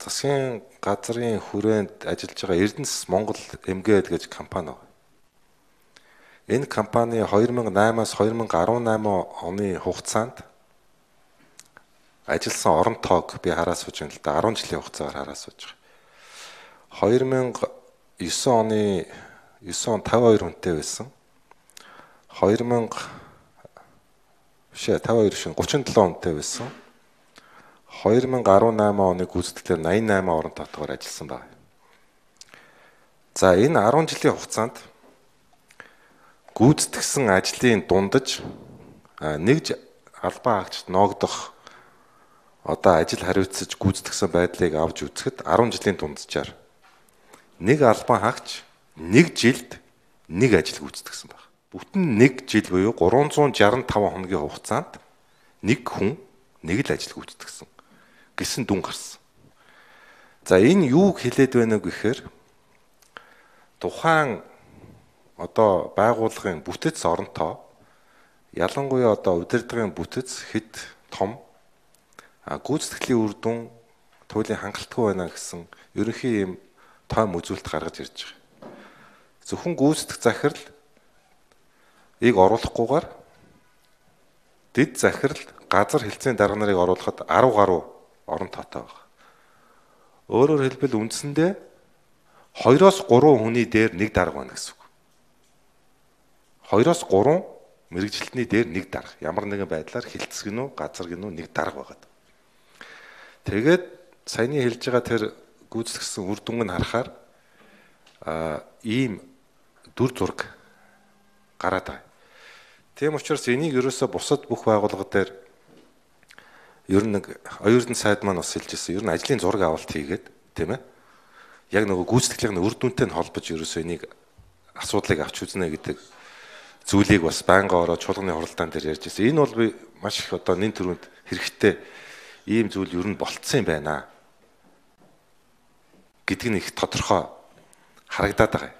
засгийн газрын хүрээнд ажиллаж байгаа Эрдэнэс Монгол эмгээд гэж компани байна. Энэ компани 2008-аас 2018 оны хугацаанд ажилласан орон тоог би хараад сууж байна л да. 10 жилийн хугацаагаар хараад сууж байгаа. 2009 оны 9 он 52 хүнтэй байсан. 52 шин 37 хүнтэй байсан. 2018 оны гүйцэтгэлээр 88 орон тоотгоор ажилласан байна. За энэ 10 жилийн хугацаанд гүйцэтгсэн ажлын дундаж нэг албан хаагчд ногдох одоо ажил хариуцаж гүйцэтгсэн байдлыг авч үзэхэд 10 жилийн дунджаар нэг албан хаагч нэг жилд нэг ажил гүйцэтгсэн байна. Бүтэн нэг жил буюу 365 хоногийн хугацаанд нэг хүн нэг л ажил гүйцэтгсэн гэсэн дүн гарсан. За энэ юуг хэлээд байна вэ гэхээр тухайн одоо байгууллагын бүтэц оронтоо ялангуяа одоо удирдлагын бүтэц хэд том гүйцэтгэлийн үр дүн туйлын хангалтгүй байна гэсэн ерөнхий юм тоом үзүүлэлт гаргаж ирж байгаа. Зөвхөн гүйцэтгэх захирал оруулахгүйгээр дэд захирал газар хэлтсийн дарга нарыг оруулахад 10 гаруй орон тоотой байна. Өөрөөр хэлбэл үндсэндээ 2-3 хүний дээр нэг дарга байна гэсэн үг. 2-3 мэрэгжилтний дээр нэг дарга. Ямар нэгэн байдлаар хэлтс гинүү, газар гинүү нэг дарга байгаа. Тэгээд саяны хэлж байгаа тэр гүйцэтгсэн үр дүнг нь харахаар ийм дүр зураг гараад байна. Тийм учраас энийг ерөөсө бусад бүх байгууллага дээр ер нь оюутан сайд маань бас хэлжсэн. Ер нь ажлын зураг авалт хийгээд тийм ээ. Яг нөгөө гүйцэтгэлийн үр дүнтэй нь холбож ерөөсөө энийг асуудлыг авч үзнэ гэдэг зүйлийг бас байнга ороод чуулганы хуралдаан дээр ярьж байсан. Энэ бол би маш их одоо нэн төрөнд хэрэгтэй ийм зүйл ер нь болцсон юм байна гэдг нь их тодорхой харагдаад байгаа.